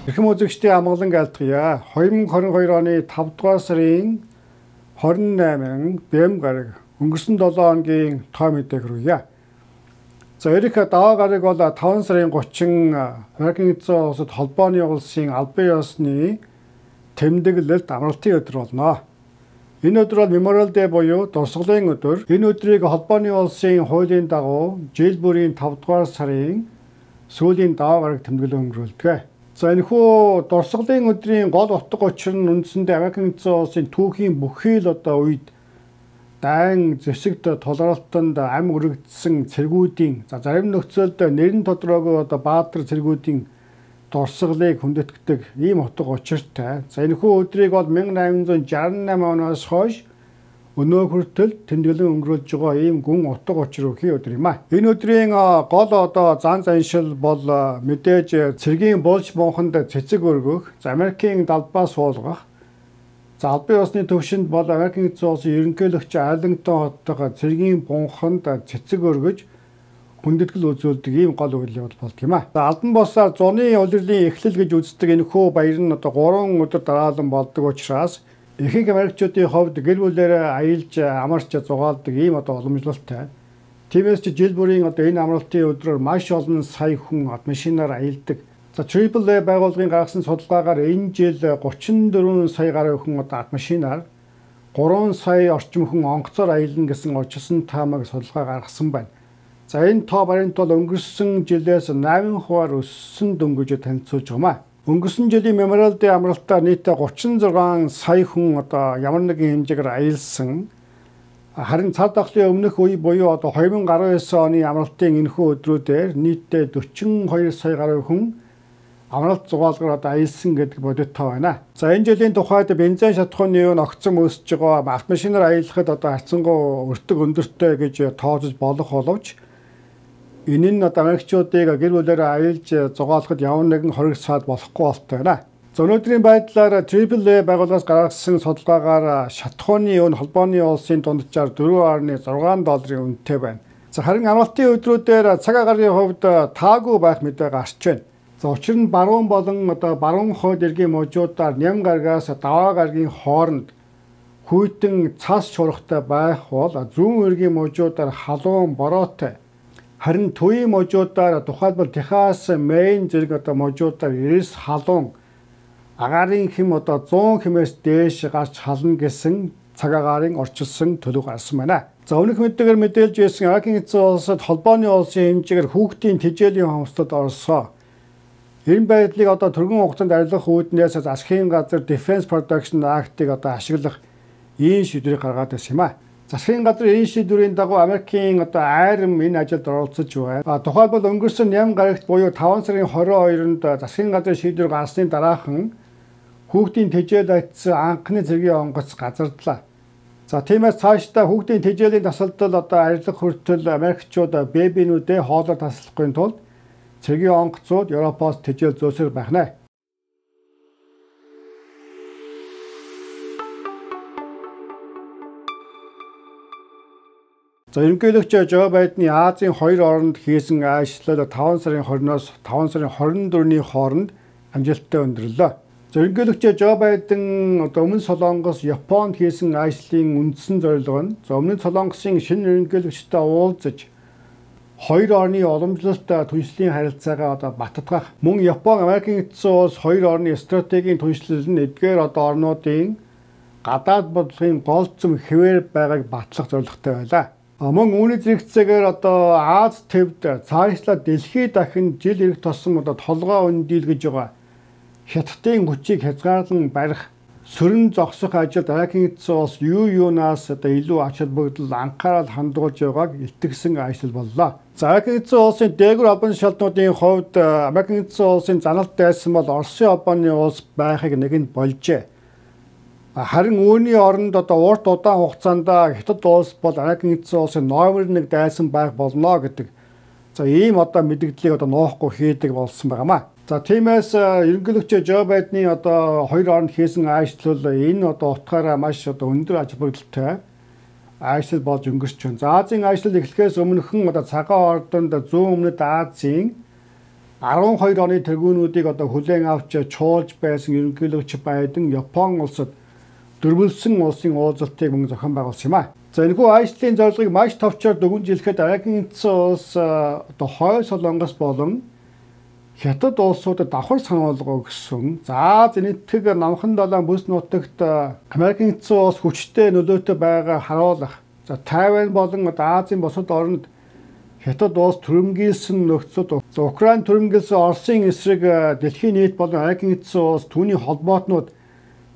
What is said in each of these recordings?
Эрхэм үзэгчдийн амгалан айлтгая. 2022 оны 5 дугаар сарын 28-нд БМ гараг өнгөрсөн 7 хоногийн тоо мэдээг хүргье. За Эрик даваа гараг бол 5 сарын 30 Америкийн эзэн улсад холбооны улсын албан ёсны тэмдэглэлд амралтын өдөр болно. Энэ өдөр бол Memorial Day буюу дурсгалын өдөр. Энэ өдрийг холбооны улсын хуулийн дагуу жил бүрийн 5 дугаар сарын сүүлийн даваа гараг тэмдэглэл өнгөрүүлдэг. За энэхүү дурсгалын өдрийн гол утга учир нь үндсэндээ Америкийн эзэн улсын түүхийн бүхий л үед дайн зэвсэгт тулгуурлалтанд ам өргөгдсөн цэргүүдийн зарим нөхцөлд нэрэн тодорхойгүй баатар цэргүүдийн дурсгалыг хүндэтгэдэг ийм утга учиртай. За энэхүү өдрийг бол 1868 оноос хойш өнөө хүртэл тэмдэглэн өнгөрүүлж байгаа ийм гүн утга учир өгөх өдөр юм а. Энэ өдрийн гол зан заншил бол мэдээж цэргийн булж бунханд цэцэг өргөх, Америкийн далбаа суулгах. За албан ёсны төвшөнд бол Америкийн эзэн улсын ерөнхийлөгч Арлингтон хоттой цэргийн бунханд цэцэг өргөж хүндэтгэл үзүүлдэг ийм гол үйл явдал болд юм а. За албан бусаар зуны улирлын эхлэл гэж үздэг энэхүү баяр нь 3 өдөр дараалан болдог учраас ихэнх Америкчуудын хувьд гэр бүлээрээ аялж амарч зугаалдаг ийм уламжлалтай. Тиймээс ч жил бүрийн энэ амралтын өдрөөр маш олон сая хүн машинаар аялдаг. За AAA байгууллагын гаргасан судалгаагаар энэ жил 34 сая гаруй хүн машинаар 3 сая орчим хүн онгоцоор аялна гэсэн очсон таамаг судалгаа гаргасан байна. За энэ тоо баримт бол өнгөрсөн жилээс 8% өссөн дөнгөж танилцуулж байгаа юм а. Өнгөрсөн жилийн Memorial Day амралтаар нийтдээ 36 сая хүн ямар нэгэн хэмжээгээр аялсан. Харин цар тахлын өмнөх үе буюу 2019 оны амралтын энэхүү өдрүүдээр нийтдээ 42 сая гаруй хүн амралт зугаалгаар аялсан гэдэг бодит тоо байна. За энэ жилийн тухайд бензин шатхууны үн огцом өсөж байгаа. Автомашинаар аялахад харьцангуй өртөг өндөртэй гэж тоожж болох боловч энэ нь Америкчуудыг гэр бүлээрээ аялж зугаалахад ямар нэгэн хориг саад болохгүй болтой байна. За өнөөдрийн байдлаар AAA байгууллагаас гаргасан судалгаагаар шатхууны үн холбооны улсын дунджаар $4.6 үнэтэй байна. За харин амралтын өдрүүдээр цаг агарын хувьд таагүй байх мэдээ гарч байна. За учир нь баруун болон баруун хойд эргийн мужуудаар ням гарагаас даваа гарагийн хооронд хүйтэн цас шуургатай байх бол зүүн эргийн мужуудаар халуун бороотой. Харин төвийн мужуудаар тухайлбал Техас, Мэйн зэрэг мужуудаар эрс халуун агаарын хэм 100 хэмээс дээш гарч хална гэсэн цаг агаарын орчилсон төлөв гарсан байна. За өмнөх мэдээгээр мэдээлж байсан Америкийн эзэн улсад холбооны улсын хэмжээгээр хүүхдийн тэжээлийн хомсдод орсон. Энэ байдлыг түргэн хугацаанд арилгах үүднээс засгийн газар Defense Production Act-ыг ашиглах ийм шийдвэрийг гаргаад байсан юм а. Засгийн газар энэ шийдвэрийн дагуу Америкийн айрам энэ ажилд оролцож байна. Тухайлбал өнгөрсөн ням гарагт буюу 5 сарын 22-нд засгийн газар шийдвэр гаргасны дараахан хүүхдийн тэжээл айтсан анхны цэргийн онгоц газардлаа. За тиймээс цаашдаа хүүхдийн тэжээлийн тасалдал арилгах хүртэл Америкчууд бэбинүүдээ хоолоор таслахын тулд цэргийн онгоцууд Европоос тэжээл зөөсөр байх нэ. За ерөнхийлөгч Жо Байдны Азийн 2 оронд хийсэн ажлыг 5 сарын 20-оос 5 сарын 24-ний хооронд амжилттай өндөрлөө. За ерөнхийлөгч Жо Байден өмнө Солонгос, Японд хийсэн ажлын үндсэн зорилго нь өмнө Солонгосын шинэ ерөнхийлөгчтэй уулзаж 2 орны уламжлалт түншлэлийн харилцаагаа баттгах. Мөн Япон, Америкийн эзэн улс 2 орны стратегийн түншлэл нь эдгээр орнуудын гадаад бодлогын голцом хэвээр байгааг батлах зорилготой байлаа. Мөн үүний зэрэгцээгээр Аз төвд цаашлаа дэлхийд дахин жил ирэх тусам толгой өндийлгэж байгаа хятадын хүчийг хязгаарлан барих, сөрөн зогсох ажилд Америкийн эзэн улс юунаас илүү ач холбогдол анхаарал хандуулж байгааг илтгэсэн ажил боллоо. За Америкийн эзэн улсын дээгүүр албан шалтнуудын хувьд Америкийн эзэн улсын заналт дайсан бол Оросын холбооны улс байхыг нэгэнд болжээ. Харин үүний оронд урт удаан хугацаанд Хятад улс бол Америкийн эзэн улсын номер 1 дайсан байх болно гэдэг. За ийм мэдгдлийг нуухгүй хийдэг болсон байгаамаа. За тиймээс ерөнхийлөгч Жо Байдны 2 оронд хийсэн ажил энэ утгаараа маш өндөр ач холбогдолтой ажил болж өнгөрч байна. За Азийн ажил эхлэхээс өмнөхөн цагаан ордонд зүүн өмнөд Азийн 12 оны тэргүүнүүдийг одоо хүлээн авч чуулж байсан ерөнхийлөгч Байден Япон улсад дөрвөлсөн улсын уулзалтыг мөн зохион байгуулсан юм а. За энэхүү ажлын зорилгыг маш товчоор дүгнжүүлэхэд Америкийн эзэн улс одоо хойд Солонгос болон Хятад улсуудад давхар сануулга өгсөн. За зэнэтхэг намхан далайн бүс нутагт Америкийн эзэн улс хүчтэй нөлөөтэй байгаа харуулах. За Тайвань болон Азийн бусад орнд Хятад улс түрэмгийлсэн нөхцөлд Украин түрэмгийлсэн Оросын эсрэг дэлхийн нийт болон Америкийн эзэн улс түүний холбоотнууд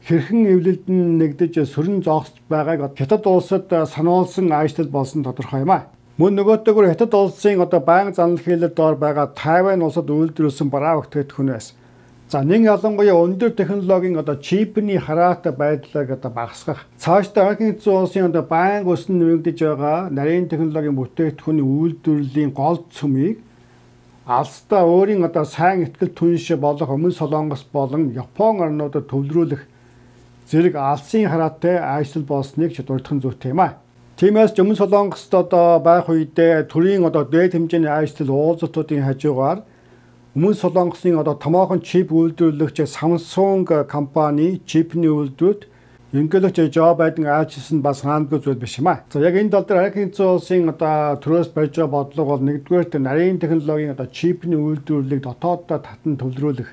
хэрхэн эвлэлдэн нэгдэж сөрөн зогсож байгааг Хятад улсад сануулсан ажил болсон тодорхой юм а. Мөн нөгөөтэйгүр Хятад улсын одоо байнга занал хийлэлд доор байгаа Тайвань улсад үйлдвэрлэсэн бараа бүтээгдэхүүнээс за нэг ялангуяа өндөр технологийн одоо чипний хараатай байдлыг одоо багасгах. Цаашдаа Америкийн эзэн улсын одоо байнга өснө нэмэгдэж байгаа нарийн технологийн бүтээгдэхүүний үйлдвэрлэлийн гол цөмийг алсдаа өөрийн одоо сайн ихтгэл түнш болох Өмнө Солонгос болон Япон орнуудад төвлөрүүлэх зэрэг алсын хараатай ажил болсныг дурдхан зүйтэй юм а. Тиймээс Өмнө Солонгост одоо байх үедээ төрийн одоо дээд хэмжээний ажил уулзалтуудын хажуугаар Өмнө Солонгосын одоо томоохон чип үйлдвэрлэгч Samsung компани чипний үйлдвэрт ерөнхийлөгч Жо Байден айлчилсан бас хаандгүй зүйл биш юм а. За яг энэ тал дээр Америкийн эзэн улсын одоо төрөөс барьж байгаа бодлого бол нэгдүгээр нарийн технологийн одоо чипний үйлдвэрлэлийг дотооддоо татан төвлөрүүлэх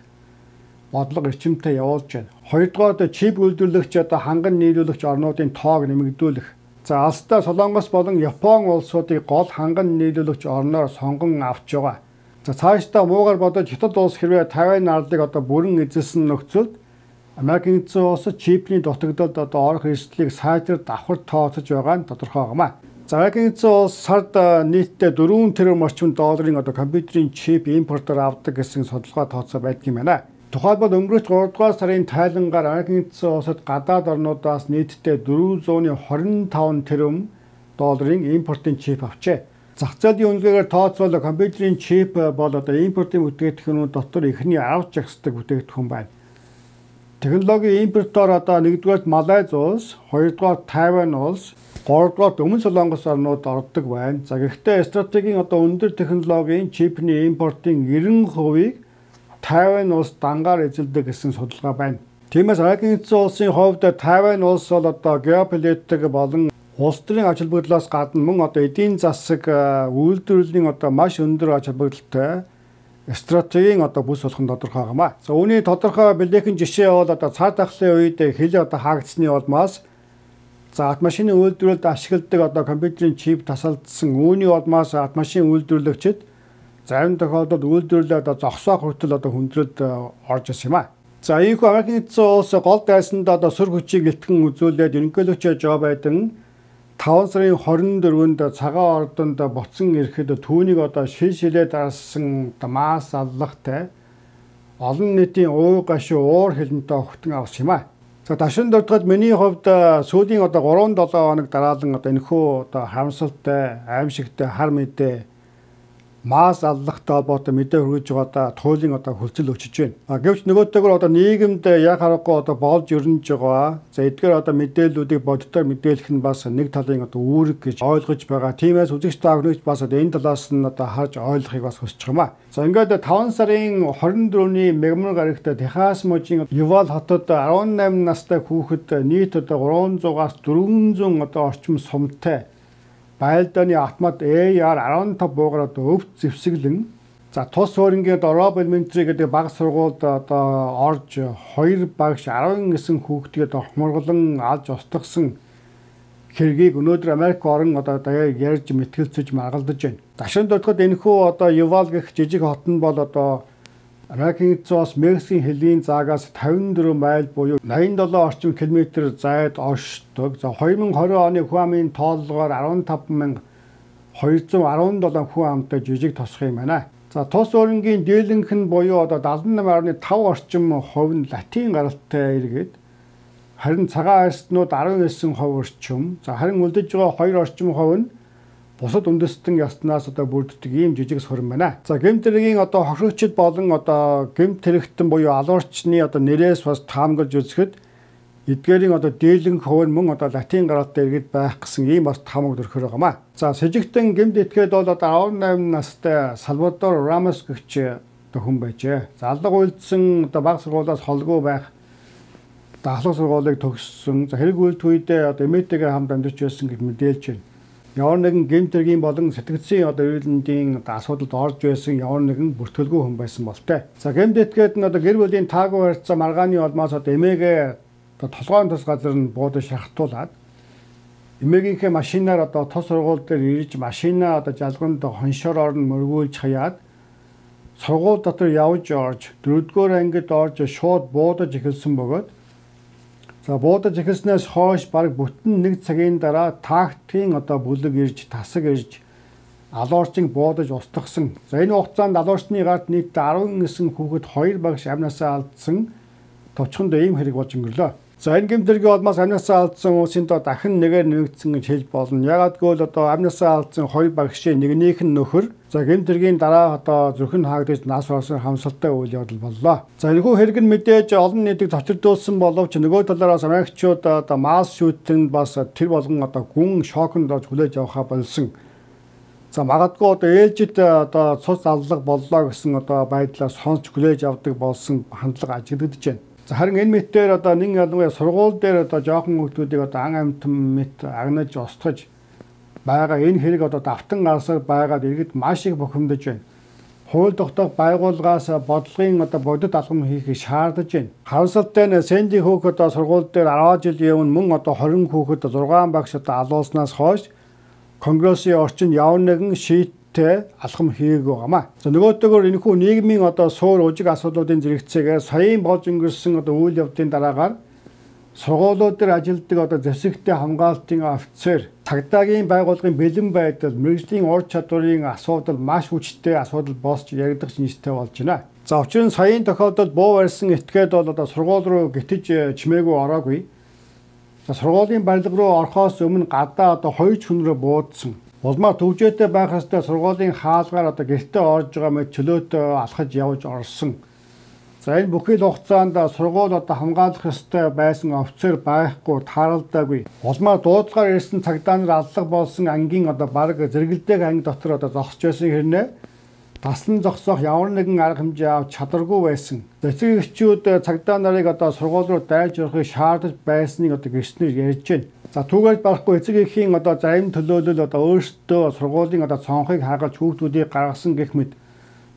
бодлого эрчимтэй явуулж байна. Хоёрдугаар чип үйлдвэрлэгч одоо ханган нийлүүлэгч орнуудын тоог нэмэгдүүлэх. За алсдаа Солонгос болон Япон улсуудыг гол ханган нийлүүлэгч орноор сонгон авч байгаа. За цаашдаа муугар бодож Хятад улс хэрвээ Тайвань арлыг одоо бүрэн эзэлсэн нөхцөлд Америкийн эзэн улс чипний дутагдалд одоо орох эрсдлийг сайтар давхар тооцож байгаа нь тодорхой юм а. За Америкийн эзэн улс сард нийтдээ 4 тэрбум орчим долларын одоо компьютерийн чип импортоор авдаг гэсэн судалгаа тооцоо байдаг юм байна. Тухайлбал өнгөрөх 3 дугаар сарын тайлангаар Америкийн эзэн улсад гадаад орнуудаас нийтдээ 425 тэрбум долларын импортын чип авчээ. Зах зээлийн үнэлгээгээр тооцвол компьютерийн чип бол одоо импортын бүтээгдэхүүнүүд дотор эхний 10 жагсдаг бүтээгдэхүүн байна. Технологийн импортоор одоо 1-р Малайз улс, 2-р Тайвань улс, 3-р Өмнө Солонгос орнууд ордог байна. За гэхдээ стратегийн одоо өндөр технологийн чипний импортын 90%-ийг Тайвань улс дангаар эзэлдэг гэсэн судалгаа байна. Тиймээс Америкийн эзэн улсын хувьд Тайвань улс бол одоо геополитик болон улс төрийн ач холбогдлоос гадна мөн одоо эдийн засаг үйлдвэрлэлийн одоо маш өндөр ач холбогдолтой стратегийн одоо бүс болох нь тодорхой юм а. За үүний тодорхой бэлээхэн жишээ бол одоо цар тахлын үед хил одоо хаагдсны улмаас за автомашины үйлдвэрлэлд ашигладаг одоо компьютерийн чип тасалдсан. Үүний улмаас автомашин үйлдвэрлэгчид зарим тохиолдолд үйлдвэрлэлээ одоо зогсоох хүртэл одоо хүндрэлд орж ирсэн юм а. За ийхүү Америкийн эзэн улс гол дайсанд одоо сүр хүчийг илтгэн үзүүлээд ерөнхийлөгч Жо Байден 5 сарын 24-нд цагаан ордонд буцан ирэхэд түүнийг одоо шилээ дарсан мас аллагтай олон нийтийн уу гашуу уур хилэнтэй огтон авсан юм а. За дашин дурдгад миний хувьд сүүлийн одоо 3-7 хоног дараалан одоо энэхүү одоо харамсалтай, аимшигтай хар мэдээ мас аллагтай холбоотой мэдээ хүргэж байгаадаа туйлын одоо хөлцөл өчөж байна. Гэвч нөгөөтэйгөр одоо нийгэмд яг харахгүй одоо болж өрнөж байгаа. За эдгээр одоо мэдээллүүдийг боддоор мэдээлэх нь бас нэг талын одоо үүрэг гэж ойлгож байгаа. Тиймээс үзэгч та бүхэн бас энэ талаас нь одоо харж ойлгохыг бас хүсэж байгаа юм а. За ингээд 5 сарын 24-ний мегмар гарагт Техас мужийн Ювал хотод 18 настай хүүхэд нийт одоо 300-аас 400 одоо орчим сумтай байлдааны автомат AR-15 буугаар одоо өвд зэвсэглэн за тус суурингийн Rob Elementary гэдэг баг сургуульд одоо орж 2 багш 19 хүүхдийг одоо хумургалан алж устгасан хэргийг өнөөдөр Америк орн одоо ярьж мэтгэлцэж маргалдаж байна. Дашин дурдгад энэхүү одоо Ювал гэх жижиг хот нь бол одоо Америкийн эзэн улс Мексикийн хилийн заагаас 54 майл буюу 87 орчим километр зайд оршдог. За 2020 оны хүн амын тооллогоор 15,217 хүн амтай жижиг тосх юм байна. За тус өөрөнгийн дийлэнх нь буюу одоо 78.5 орчим хувь нь латин гаралтай иргэд харин цагаан арстнууд 19% орчим. За харин үлдэж байгаа 2 орчим хувь нь бусад үндэстэн яснаас одоо бүрддэг ийм жижиг суран байна. За гэмт хэргийн одоо хохирогчд болон одоо гэмт хэрэгтэн буюу алуурчны одоо нэрээс бас таамаглаж үзэхэд эдгээрийн одоо дийлэнх хувь мөн одоо латин гаралтай иргэд байх гэсэн ийм бас таамаг төрхөр байгаа маа. За сэжигтэн гэмт этгээд бол одоо 18 настай Салвадор Рамос гэгч одоо хүн байжээ. За алга үйлдсэн одоо бага сургуулиас холгүй байх ахлах сургуулийг төгссөн. За хэрэг үйлдэх үедээ одоо эмээтэйгээ хамт амьдарч байсан гэж мэдээлж байна. Ямар нэгэн гэмт хэргийн болон сэтгцийн одоо эрүүлэндийн асуудалд орж байсан ямар нэгэн бүртгэлгүй хүн байсан болтой. За гэмт этгээд нь одоо гэр бүлийн таагүй харьцаа маргааны улмаас одоо эмээгээ одоо толгойн тус газар нь буудаж шахтуулаад эмээгийнхээ машинаар одоо тус сургууль дээр ирж машинаа одоо жалганд хоншоор орн мөргүүлж хаяад сургууль дотор явж орж 4-р ангид орж шууд буудаж эхэлсэн бөгөөд за буудаж эхэлснээс хойш бараг бүтэн 1 цагийн дараа тактикийн одоо бүлэг ирж тасаг ирж алуурчинг буудаж устгасан. За энэ хугацаанд алуурчны гарт нийт 19 хүүхэд 2 багш амнасаа алдсан товчхонд ийм хэрэг болж өнгөрлөө. За энэ гэмтэргийн улмаас амнасаа алдсан хүмүүсийн доо дахин нэгээр нэмэгдсэн гэж хэлж болно. Ягаад гэвэл одоо амнасаа алдсан 2 багшийн нэгнийх нь нөхөр. За гэмтэргийн дараа одоо зүрхэн хаагдаж нас барсан хамсалтай үйл явдал боллоо. За энэхүү хэрэг нь мэдээж олон нийтийг цочирдуулсан боловч нөгөө талаараас Америкчууд одоо масс шүүтэнд бас тэр болгон одоо гүн шоконд орж хүлээж авахаа болсон. За магадгүй одоо ээлжид одоо цус аллах боллоо гэсэн одоо байдлаар сонсч хүлээж авдаг болсон хандлага ажиглагдаж байна. За харин энэ мэтээр одоо нэг ялангуяа сургууль дээр одоо жоохон хүмүүсийг одоо ан амтан мэт агнаж устгаж байгаа энэ хэрэг одоо давтан гарсаар байгаад иргэд маш их бухимдаж байна. Хууль тогтоох байгууллагаас бодлогын одоо бодит алхам хийхийг шаардаж байна. Харамсалтай нь Сэнди Хук одоо сургууль дээр 10 жилийн өмнө мөн одоо 20 хүүхэд 6 багш одоо алуулснаас хойш Конгрессийн орчинд явна нэгэн шийдтэй алхам хийгээгүй гамаа. За нөгөөтэйгөр энэхүү нийгмийн одоо суур ужиг асуудлуудын зэрэгцээгээр саяын болж өнгөрсөн одоо үйл явдлын дараагаар сургуулиуд дээр ажилладаг одоо зэвсэгтэй хамгаалтын офицер, цагдаагийн байгууллагын бэлэн байдал, мэргэжлийн ур чадварын асуудал маш хүчтэй асуудал босч яригдах шинжтэй болж байна. За учир нь саяын тохиолдолд буу барьсан этгээд бол одоо сургууль руу гитэж чимээгүй ороогүй. За сургуулийн барилга руу орохоос өмнө гадаа одоо 2 хүнрээ буудсан. Улмаар төвжээтэй байх ёстой сургуулийн хаалгаар одоо гэртээ орж байгаа мэт чөлөөтэй алхаж явж орсон. За энэ бүхий л хугацаанд сургууль одоо хамгаалах ёстой байсан офицер байхгүй, тааралдаагүй. Улмаар дуудлагаар ирсэн цагдаа нар аллах болсон ангийн одоо бараг зэрэгэлдээх анги дотор одоо зогсож байсан хэрнээ таслан зогсоох ямар нэгэн арга хэмжээ авч чадваргүй байсан. Эцэг эхчүүд цагдаа нарыг одоо сургууль руу дайрж орохыг шаардаж байсныг одоо гэрчнэр ярьж байна. За түүгээр барахгүй эцэг эхийн одоо зарим төлөөлөл одоо өөрсдөө сургуулийн одоо цонхыг хаагалж хүүхдүүдийг гаргасан гэх мэт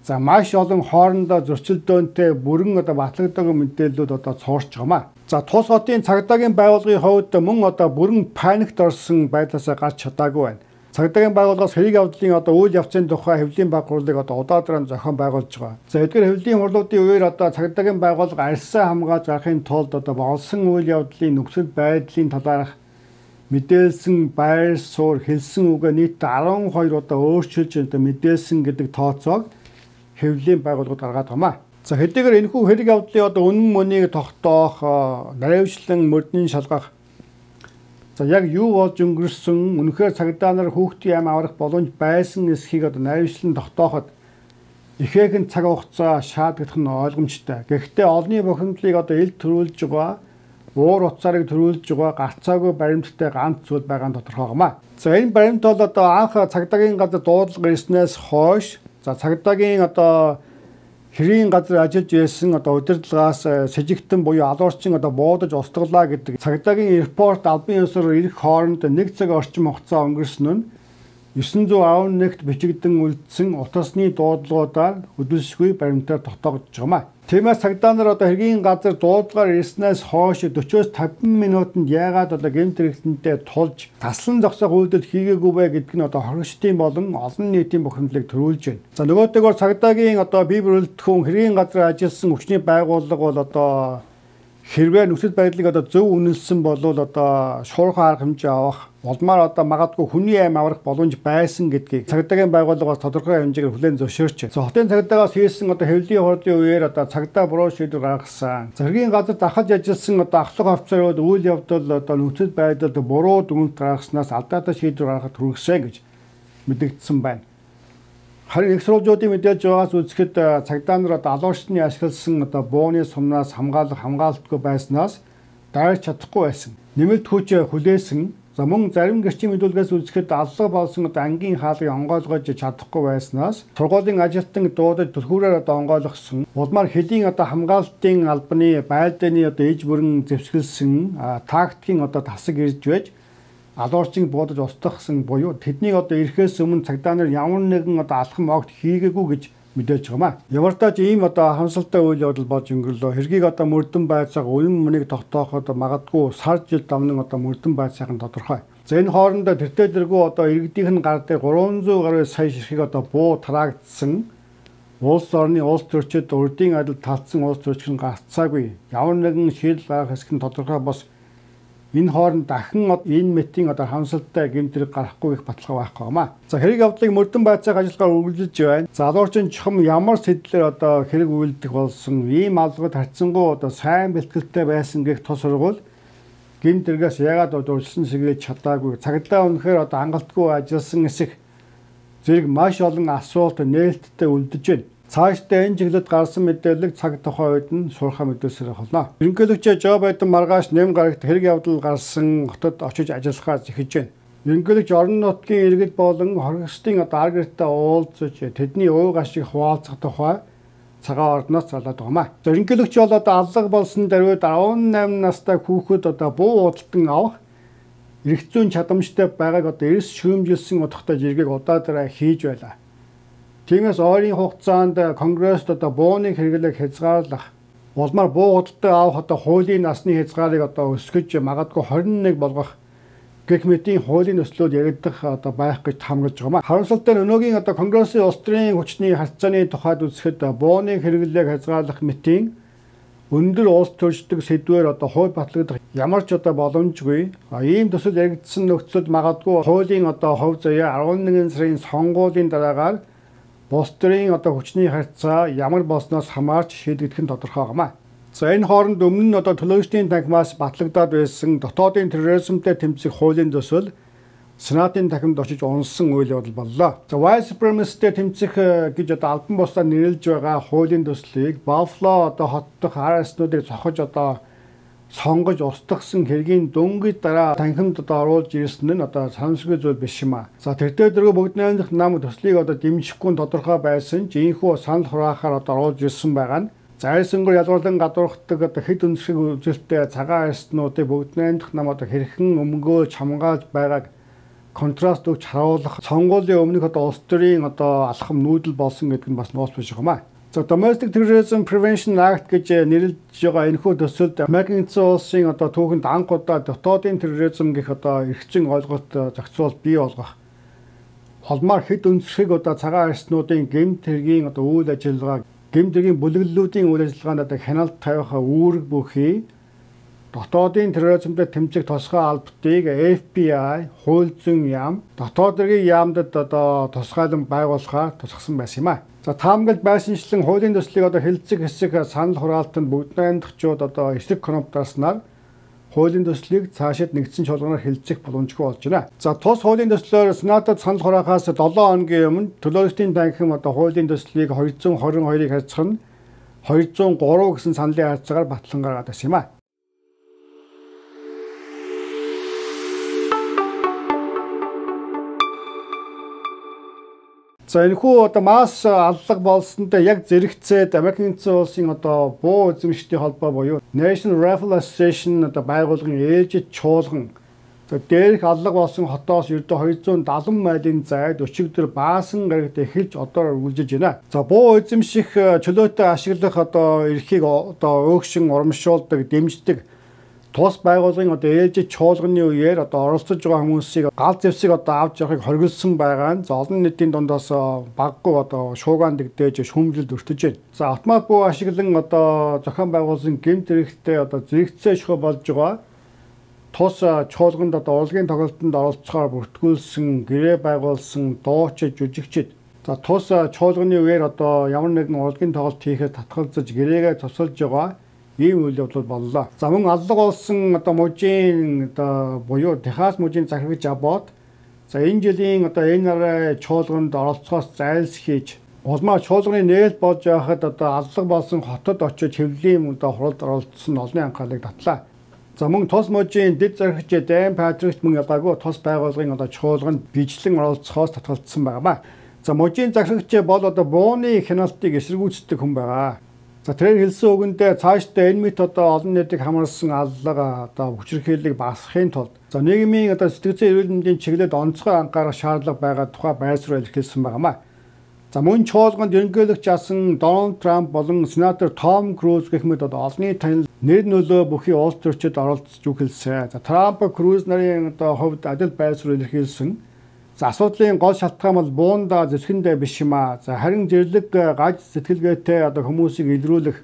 за маш олон хоорондоо зөрчилдөөнтэй бүрэн одоо батлагддаг мэдээллүүд одоо цуурч байгаамаа. За тус хотын цагдаагийн байгууллагын хувьд мөн одоо бүрэн паникт орсон байдлаасаа гарч чадаагүй байна. Цагдаагийн байгууллагаас хэрэг явдлын одоо үйл явцын тухай хэвлэлийн баг хурлыг одоо удаадран зохион байгуулж байгаа. За эдгээр хэвлэлийн хурлуудын үеэр одоо цагдаагийн байгууллага арьсаа хамгаалж гарахын тулд одоо болсон үйл явдлын нөхцөл байдлын талаарх мэдээлсэн байр суурь хэлсэн үгээ нийт 12 одоо өөрчилж одоо мэдээлсэн гэдэг тооцоог хэвлэлийн байгууллагууд гаргаад байгаамаа. За хэдийгээр энэхүү хэрэг явдлын одоо үнэн мөнийг тогтоох, наривчлан мөрдний шалгах за яг юу болж өнгөрсөн үнэхээр цагдаа нар хүүхдийн ам аврах боломж байсан эсхийг одоо наривчлан тогтооход ихээхэн цаг хугацаа шаардлагах нь ойлгомжтой. Гэхдээ олонний бухимдлыг одоо ил төрүүлж байгаа, уур уцаарыг төрүүлж байгаа гарцаагүй баримттай ганц зүйл байгаа нь тодорхой гамаа. За энэ баримт бол одоо анх цагдаагийн газар дуудлага ирснээс хойш за цагдаагийн одоо хэрийн газар ажиллаж байсан одоо удирдлагаас сэжигтэн буюу алуурчин одоо буудаж устгалаа гэдэг цагдаагийн репорт албан ёсоор ирэх хооронд 1 цаг орчим хугацаа өнгөрсөн нь 911-т бичигдэн үлдсэн утасны дуудлагуудаар хөдөлсгүй баримтаар тогтоогдож байгаамаа. Тиймээс цагдаа нар одоо хэргийн газар дуудлагаар ирснээс хойш 40-50 минутанд яагаад одоо гэмт хэрэгтэнтэй тулж таслан зогсоох үйлдэл хийгээгүй бэ гэдг нь одоо хоригчдын болон олон нийтийн бухимдлыг төрүүлж байна. За нөгөөтэйгөр цагдаагийн одоо бие бүрэлдэхүүн хэргийн газар ажилласан хүчний байгууллага бол одоо хэрвээ нөхцөл байдлыг одоо зөв үнэлсэн бол одоо шуурхай арга хэмжээ авах улмаар одоо магадгүй хүний аим аврах боломж байсан гэдгийг цагдаагийн байгууллагаас тодорхой хэмжээгээр хүлээн зөвшөөрч байна. Хотын цагдаагаас хийсэн одоо хэвлэлийн хурлын үеэр одоо цагдаа буруу шийдвэр гаргасан. Зэргийн газар дахиж ажилласан одоо ахлах офицерууд үйл явдал одоо нөхцөл байдалд буруу дүгнэлт гаргаснаас алдаатай шийдвэр гаргахад хүргэсэн гэж мэдэгдсэн байна. Харин их сурвалжуудын мэдээлж байгаас үзэхэд цагдаа нар одоо алуурчны ашигласан одоо бууны сумнаас хамгаалтгүй байснаас дайрч чадахгүй байсан. Нэмэлт хүч хүлээсэн. За мөн зарим гэрчийн мэдүүлгээс үзэхэд алга болсон ангийн хаалгыг онгойлгож чадахгүй байснаас сургуулийн ажилтан дуудаж түлхүүрээр онгойлгосон. Улмаар хөлийн хамгаалалтын албаны байлдааны иж бүрэн зэвсгэлсэн тактикийн тасаг ирж байж алуурчин буудаж устгахсан буюу тэдний ирэхээс өмнө цагдаа нар ямар нэгэн алхам огт хийгээгүй гэж мэдээж байгаамаа. Ямар ч тач ийм хамсалтай үйл явдал болж өнгөрлөө. Хэргийг мөрдөн байцааг үлэн мөнийг тогтооход магадгүй сар жил давнан мөрдөн байцаах нь тодорхой. За энэ хоорондоо тэртээ дэргүй иргэдийнх нь гар дээр 300 гаруй сая ширхэг буу тараагдсан. Улс орны улс төрчид урдын адил талцсан улс төрчид гарцаагүй. Ямар нэгэн шийдэл гаргах хэсэг нь тодорхой бос. Энэ хооронд дахин энэ мэтийн хамсалтай гэмтрэг гарахгүй их баталгаа байхгүй юмаа. За хэрэг явдлыг мөрдөн байцааг ажиллагаар үргэлжилж байна. Залуурчин чухам ямар сэтлэр хэрэг үйлдэх болсон ийм алгад харьцангуй сайн бэлтгэлтэй байсан гэх тус сургуул гэмтрэгээс яагаад урьдчилан сэргийж чадаагүй. Цагдаа үнэхээр хангалтгүй ажилласан эсэх зэрэг маш олон асуулт нээлттэй үлдэж байна. Цаашдаа энэ чиглэлд гарсан мэдээлэл цаг тухайн үед нь суурхаа мэдүүлсээр болно. Ерөнхийлөгч Жо Байден маргааш нэм гарагт хэрэг явдал гарсан хотод очиж ажиллахаар зэхэж байна. Ерөнхийлөгч орон нутгийн иргэд болон хоригчдын аргэртээ уулзаж тэдний ууг ашиг хуваалцах тухай цагаан ордноос залаад байгаамаа. Ерөнхийлөгч бол алга болсон даруйд 18 настай хүүхэд буу удалтан авах эрх зүйн чадамжтай байгааг эрс шүүмжилсэн утгатай жиргэг удаа хийж байлаа. Тиймээс ойрын хугацаанд Конгресст бууны хэрэглээг хязгаарлах, улмаар буу худалдаа авах хуулийн насны хязгаарыг өсгөж магадгүй 21 болгох гэх мэтийн хуулийн нөхцлүүд яригдах байх гэж хамгаалж байгаамаа. Харамсалтай нь өнөөгийн Конгрессийн улс төрийн хүчний харьцааны тухайд үзэхэд бууны хэрэглээг хязгаарлах мэтийн өндөр улс төрчдөг сэдвээр хууль батлагдах ямар ч боломжгүй. Ийм төсөл яригдсан нөхцөлд магадгүй хуулийн хувь заяа 11 сарын сонгуулийн дараагаар улс төрийн хүчний харьцаа ямар болсноос хамаарч шийдэгдэх нь тодорхой байгаамаа. За энэ хооронд өмнө нь төлөөлөгчдийн танхимаас батлагдаад байсан дотоодын терроризмтэй тэмцэх хуулийн төсөл Сенатын танхимд очиж унсан үйл явдал боллоо. За white supremacy-тэй тэмцэх гэж албан бусдаар нэрлэж байгаа хуулийн төслийг Buffalo хот дахь RS-нуудыг зохиж сонгож устгасан хэргийн дөнгөж дараа танхимд оруулж ирсэн нь санамсаргүй зүйл биш юм аа. За тэртээ дөрөв бүгд найрамдах нам төслийг дэмжихгүй тодорхой байсан ч ийхүү санал хураахаар оруулж ирсэн байгаа нь зайсангаар ялгарлан гадуурхдаг хэд өнцөг үзэлтэй цагаан арстнуудыг бүгд найрамдах нам хэрхэн өмгөөлж хамгаалж байгааг контраст өгч харуулах сонгуулийн өмнөх улс төрийн алхам нүүдэл болсон гэдэг нь бас нууц биш юмаа. За Domestic Terrorism Prevention Act гэж нэрлэж байгаа энэхүү төсөлд Америкийн эзэн улсын түүхэнд анх удаа дотоодын терроризм гэх эрх зүйн ойлголт зохицуул бий болгох. Холмаар хэд өнцгөөг цагаан арстнуудын гэмт хэргийн үйл ажиллагаа, гэмт хэргийн бүлэглэлүүдийн үйл ажиллагаанд хяналт тавих үүрэг бүхий дотоодын терроризмтэй тэмцэх тусгай албатыг FBI, хууль зүйн яам, дотоод хэргийн яамдад тусгайлан байгуулахаар тусгасан байсан юм аа. За таамаглалд байсанчлан хуулийн төслийг хэлэлцэх хэсэг санал хураалтанд бүгд найрамдагчид эсрэг конопдарснаар хуулийн төслийг цаашид нэгдсэн чуулганаар хэлэлцэх боломжгүй болж байна. За тус хуулийн төслөөр Сенатад санал хураахаас 7 хоногийн өмнө төлөөлөгчдийн танхим хуулийн төслийг 222-ыг харьцах нь 203 гэсэн саналын харьцаагаар батлан гаргаад байсан юм аа. За энэхүү масс аллаг болсонтой яг зэрэгцээд Америкийн эзэн улсын буу эзэмшигчдийн холбоо буюу National Rifle Association байгууллагын ээлжид чуулган дээрх аллаг болсон хотоос ердөө 270 милийн зайд өчигдөр баасан гарагт эхэлж үргэлжилж байна. За буу эзэмших чөлөөтэй ашиглах эрхийг өөгшин урамшуулдаг, дэмждэг тус байгууллагын ээлжид чуулганы үеэр оролцож байгаа хүмүүсийг гал зэвсэг авч явахыг хориглосон байгаа нь олон нийтийн дундаас баггүй шуугаан дэгдээж шүүмжлэлд өртөж байна. За автомат буу ашиглан зохион байгуулсан гэмт хэрэгтээ зэрэгцээ шохоо болж байгаа тус чуулганд урлагийн тоглолтод оролцохоор бүртгүүлсэн, гэрээ байгуулсан дуучид, жүжигчид тус чуулганы үеэр ямар нэгэн урлагийн тоглолт хийхэд татгалзаж гэрээгээ тусалж байгаа ийм үйл явдал боллоо. За мөн аллаг болсон мужийн буюу Техас мужийн захирагч Аббот энэ жилийн энэ нараа чуулганд оролцохоос зайлсхийж улмаа чуулганы нээлт болж байхад аллаг болсон хотод очиж хэвлэлийн хуралд оролцсон олонний анхаарлыг татлаа. За мөн тус мужийн дэд зархич Дан Патрикт мөн ялгаагүй тус байгууллагын чуулганд бичлэн оролцохоос татгалзсан байна. За мужийн захирагч бол бууны хяналтыг эсэргүүцдэг хүн байгаа. За тэрээр хэлсэн үгэндээ цаашдаа энэ мэт олон нийтийг хамарсан аллага хүчирхийллийг багасгахын тулд нийгмийн сэтгэл зүйн эрүүл мэндийн чиглэлд онцгой анхаарах шаардлага байгаа тухай байрсаар илэрхийлсэн байна. За мөн чуулганд ерөнхийлөгч асан Дональд Трамп болон сенатор Том Круз гэх мэт олонний танил нэр нөлөө бүхий улс төрчид оролцож үхэлсэн. За Трамп Круз нарын хувьд адил байрсаар илэрхийлсэн. За асуудлын гол шалтгаан бол буунда зэвсгэндээ биш юм аа. За харин зэрлэг гаж сэтгэлгээтэй хүмүүсийг илрүүлэх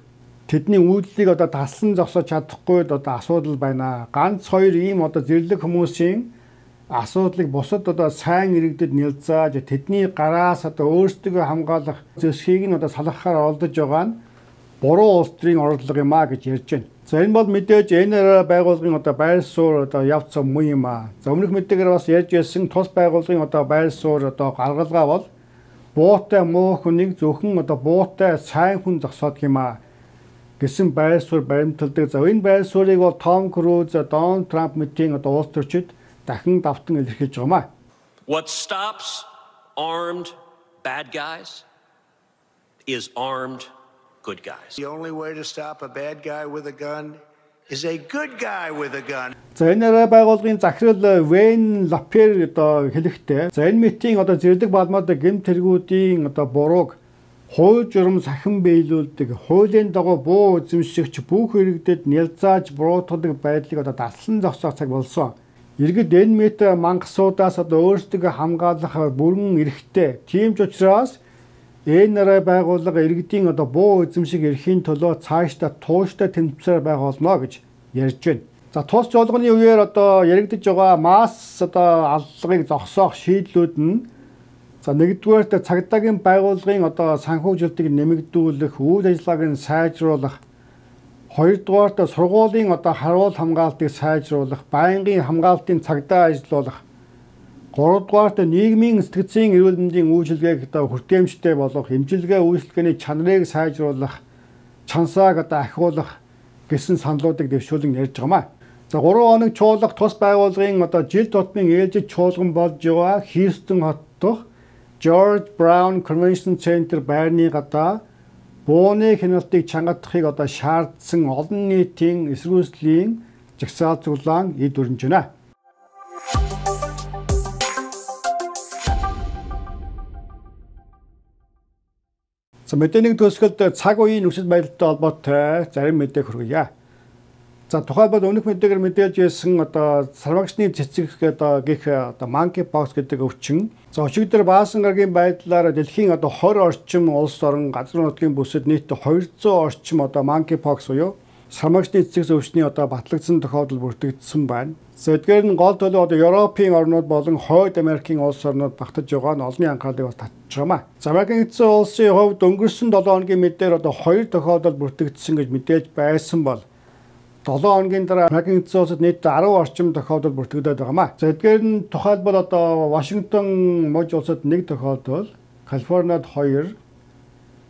тэдний үйлдэлийг таслан зогсоож чадахгүй асуудал байна. Ганц хоёр ийм зэрлэг хүмүүсийн асуудлыг бусад сайн иргэдэд нэлзааж тэдний гараас өөрсдөө хамгаалах зэвсгийг нь салгахаар оролдож байгаа нь буруу улс төрийн орлого юм а гэж ярьж байна. За энэ бол мэдээж НРА байгууллагын байр суурь явц муу юм а. За өмнөх мэдээгээр бас ярьж байсан тус байгууллагын байр суурь гаргалгаа бол буутай муу хүнийг зөвхөн буутай сайн хүн зогсоодг юм а гэсэн байр суурь баримталдаг. За энэ байр суурийг бол Том Круз, Дональд Трамп мэтийн улс төрчид дахин давтан илэрхийлж байгаа юм а. What stops armed bad guys is armed good guys. The only way to stop a bad guy with a gun is a good guy with a gun. За энэ байгууллагын захирал Вейн Лапер хэлэхдээ за энэ мэтийн зэрлэг балмаад гэмт тэргүүдийн бурууг хууль журам сахин биелүүлдэг, хуулийн дагуу буу эзэмшигч бүх иргэдэд нялзааж буруутгадаг байдлыг даслан зогсоох цаг болсон. Иргэд энэ мэт мангасуудаас өөрсдөө хамгаалах бүрэн эрхтэй. Тийм ч учраас НРА байгууллага иргэдийн буу эзэмшиг эрхийн төлөө цаашдаа тууштай тэмцээр байх болно гэж ярьж байна. За тус жолгоны үеэр яригдж байгаа масс аллагыг зогсоох шийдлүүд нь нэгдүгээрт цагдаагийн байгууллагын санхүүжилтийг нэмэгдүүлэх, үйл ажиллагааг нь сайжруулах, хоёрдугаарт сургуулийн харуул хамгаалтыг сайжруулах, байнгын хамгаалтын цагдаа ажиллуулах, гуравдугаарт нийгмийн сэтгцийн эрүүл мэндийн үйлчилгээг хүртээмжтэй болгох, эмчилгээ үйлчилгээний чанарыг сайжруулах, чансааг ахиулах гэсэн саналуудыг дэвшүүлэн ярьж байгаа юм. За 3 хоног чуулга тус байгууллагын жил тутмын ээлжид чуулган болж байгаа Хьюстон хот дох George Brown Convention Center байрны гадаа бууны хяналтыг чангадахыг шаардсан олон нийтийн эсэргүүцлийн жагсаал цуглаан эд өрнж байна. За мэдээний төгсгөлд цаг үеийн нөхцөл байдалтай холбоотой зарим мэдээ хүргье. За тухайлбал өмнөх мэдээгээр мэдээлж байсан сармагчны цэцэг гэх monkeypox гэдэг өвчин. За өчигдөр Баасан гарагийн байдлаар дэлхийн 20 орчим улс орон газар нутгийн бүсэд нийт 200 орчим monkeypox буюу сармагчны цэцэг өвчний батлагдсан тохиолдол бүртгэгдсэн байна. За эдгээр нь гол төлөв Европын орнууд болон Хойд Америкийн улс орнууд багтаж байгаа нь олонний анхаарлыг татж байгаа. За Америкийн эзэн улсын хувьд өнгөрсөн 7 хоногийн мэдээр 2 тохиолдол бүртгэгдсэн гэж мэдээж байсан бол 7 хоногийн дараа Америкийн эзэн улсад нийт 10 орчим тохиолдол бүртгэгдээд байгаа. За эдгээр нь тухайлбал Вашингтон мужи улсад 1 тохиолдол, Калифорниад 2,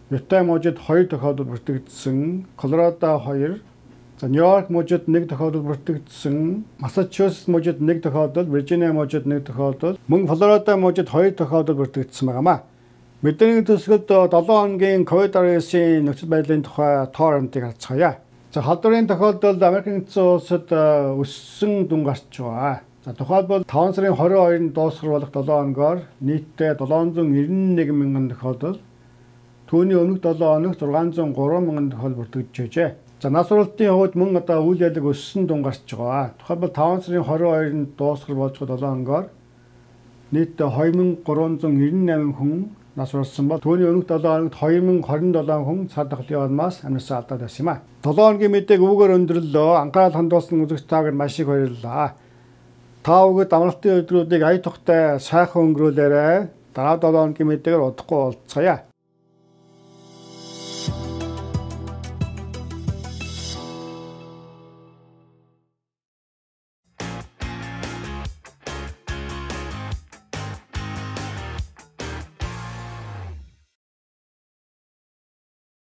Юта мужид 2 тохиолдол бүртгэгдсэн, Колорадо 2, за Нью-Йорк мужид 1 тохиолдол бүртгэгдсэн, Массачусетс мужид 1 тохиолдол, Виржиниа мужид 1 тохиолдол, мөн Флорида мужид 2 тохиолдол бүртгэгдсэн байна. Мэдээний төсгөлд 7 хоногийн COVID-19 нөхцөл байдлын тухай тоо баримтыг харцгаая. За халдварын тохиолдолд Америкийн эзэн улсад өссөн дүн гарч байгаа. За тухайлбал 5 сарын 22-нд дуусгар болох 7 хоногоор нийтдээ 791 мянган тохиолдол, түүний өмнөх 7 хоногт 603 мянган тохиолдол бүртгэжжээ. За нас сургалтын хувьд мөн үйл явдлыг өссөн дүн гарч байгаа. Тухайлбал 5 сарын 22-нд дуусгар болж 7 хоногоор нийтдээ 2398 хүн нас урсан бол түүний өмнөх 7 хоногт 2027 хүн цар тахлын улмаас амьсгалаа алдаад байсан юм а. 7 хоногийн мэдээг өвгөр өндөрлөө. Анхаарал хандуулсан үзэгч таагаар маш их баярлалаа. Та бүхэнд амралтын өдрүүдийг ая тухтай сайхан өнгөрүүлээрэй. Дараа 7 хоногийн мэдээгээр удахгүй уулзцаая.